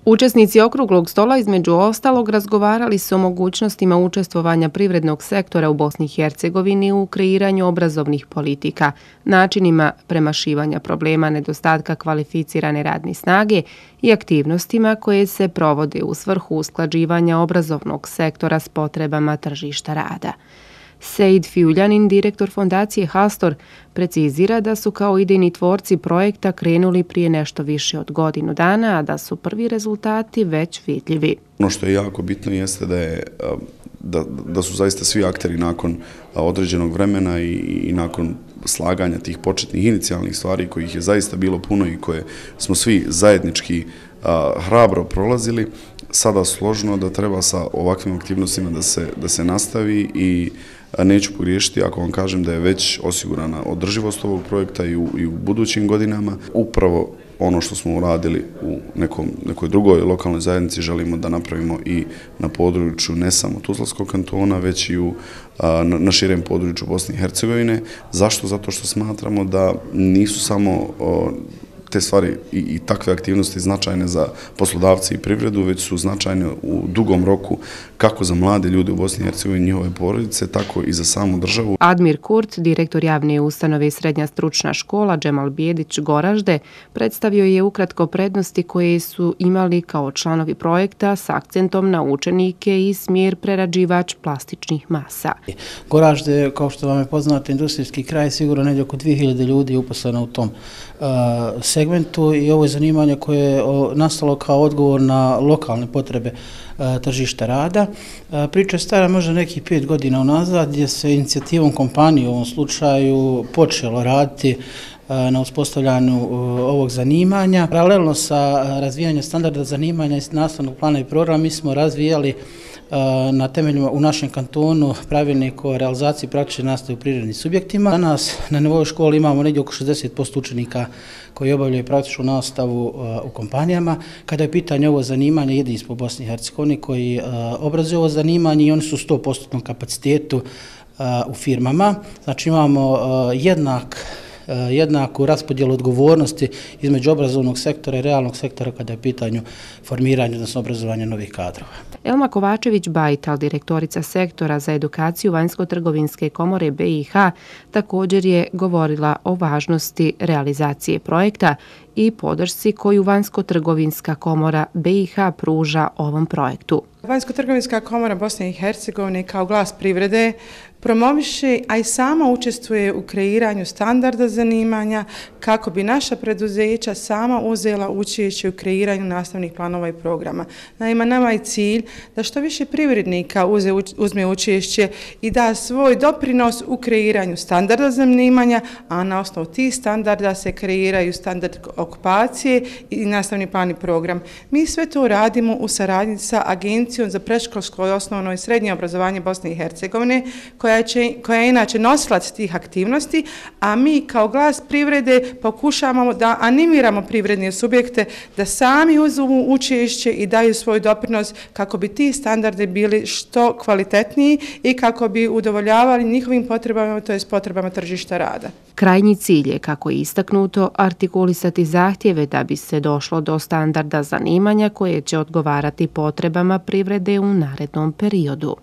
Učesnici okruglog stola između ostalog razgovarali su o mogućnostima učestvovanja privrednog sektora u Bosni i Hercegovini u kreiranju obrazovnih politika, načinima premašivanja problema nedostatka kvalificirane radne snage i aktivnostima koje se provode u svrhu usklađivanja obrazovnog sektora s potrebama tržišta rada. Sejid Fiuljanin, direktor fondacije Hastor, precizira da su kao idejni tvorci projekta krenuli prije nešto više od godinu dana, a da su prvi rezultati već vidljivi. Ono što je jako bitno jeste da su zaista svi akteri nakon određenog vremena i nakon slaganja tih početnih inicijalnih stvari kojih je zaista bilo puno i koje smo svi zajednički hrabro prolazili, sada složno da treba sa ovakvim aktivnostima da se nastavi i neću pogriješiti ako vam kažem da je već osigurana održivost ovog projekta i u budućim godinama. Upravo ono što smo uradili u nekoj drugoj lokalnoj zajednici želimo da napravimo i na području ne samo Tuzlanskog kantona, već i na širem području Bosne i Hercegovine. Zašto? Zato što smatramo da nisu samo te stvari i takve aktivnosti značajne za poslodavce i privredu, već su značajne u dugom roku kako za mlade ljude u Bosni i Hercegovini i njihove porodice, tako i za samu državu. Admir Kurt, direktor javne ustanove Srednja stručna škola Džemal Bijedić Goražde, predstavio je ukratko prednosti koje su imali kao članovi projekta s akcentom na učenike i smjer prerađivač plastičnih masa. Goražde, kao što vam je poznato, industrijski kraj, sigurno negdje oko 2000 ljudi je uposleno u tom segmentu i ovo je zanimanje koje je nastalo kao odgovor na lokalne potrebe tržišta rada. Priča je stara možda nekih 5 godina unazad gdje se inicijativom kompanije u ovom slučaju počelo raditi na uspostavljanju ovog zanimanja. Paralelno sa razvijanjem standarda zanimanja iz nastavnog plana i programa mi smo razvijali na temeljima u našem kantonu pravilnik o realizaciji praktične nastave u privrednim subjektima. Danas na nivou škole imamo negdje oko 60% učenika koji obavljaju praktičnu nastavu u kompanijama. Kada je pitanje ovo zanimanje, jedini smo u Bosni i Hercegovini koji obrazuju ovo zanimanje i oni su u 100% kapacitetu u firmama. Znači imamo jednaku raspodjelu odgovornosti između obrazovnog sektora i realnog sektora kada je pitanju formiranja, odnosno obrazovanja novih kadrova. Elma Kovačević-Bajtal, direktorica sektora za edukaciju Vanjsko-trgovinske komore BiH, također je govorila o važnosti realizacije projekta i podršci koju Vanjsko-trgovinska komora BiH pruža ovom projektu. Vanjsko-trgovinska komora Bosne i Hercegovine kao glas privrede promoviše, a i sama učestvuje u kreiranju standarda zanimanja kako bi naša preduzeća sama uzela učešće u kreiranju nastavnih planova i programa. Naime, nama je cilj da što više privrednika uzme učešće i da svoj doprinos u kreiranju standarda zanimanja, a na osnovu tih standarda se kreiraju standard okupacije i nastavni plan i program. Mi sve to radimo u saradnji sa Agencijom za predškolsko, osnovno i srednje obrazovanje Bosne i Hercegovine, koja je inače nosilac tih aktivnosti, a mi kao glas privrede pokušavamo da animiramo privredne subjekte da sami uzmu učešće i daju svoj doprinos kako bi ti standardi bili što kvalitetniji i kako bi udovoljavali njihovim potrebama, to jest potrebama tržišta rada. Krajnji cilj je, kako je istaknuto, artikulisati zahtjeve da bi se došlo do standarda zanimanja koje će odgovarati potrebama privrede u narednom periodu.